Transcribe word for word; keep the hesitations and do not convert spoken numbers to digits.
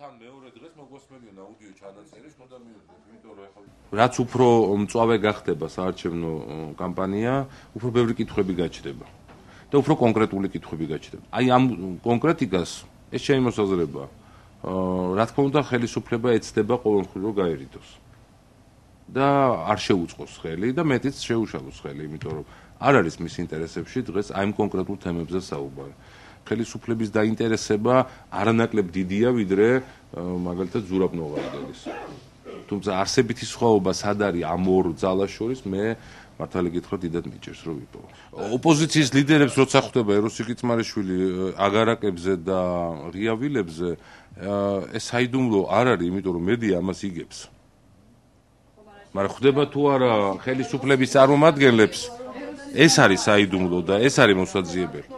თან მეორე დღეს მოგესმენიონ აუდიო ჩანაწერი, ხოდა მივიდეთ, იმიტომ რომ ახლა რაც უფრო მწვავე გახდება საარჩევნო კამპანია, უფრო ბევრი კითხვები გაჩნდება და უფრო კონკრეტული კითხვები გაჩნდება. აი ამ კონკრეტიკას ეს შემოსაზრება, რა თქმა უნდა, ხელისუფლება ეცდება ყოველმხრივ რომ გაერიდოს. და არ შეუწყოს ხელი და მეტიც შეუშალოს ხელი, იმიტომ რომ არ არის მის ინტერესებში დღეს აი ამ კონკრეტულ თემებზე საუბარი. ხელისუფლების დაინტერესება არანაკლებ დიდია, ვიდრე მაგალითად ზურაბ-ნოვარდელის. თუმცა არსებითი სხვაობა სად არის ამ ორ ძალას შორის, მე მართალი გითხრა დიდად მიჭირს რომ ვიპოვო. ოპოზიციის ლიდერებს როცა ხვდება ეროსი კიწმარიშვილი აგარაკებზე და ღიავილებზე, ეს საიდუმლო არ არის, იმიტომ რომ მედია ამას იგებს. მაგრამ ხვდება თუ არა ხელისუფლების წარმომადგენლებს, ეს არის საიდუმლო და ეს არის მოსაძიებელი.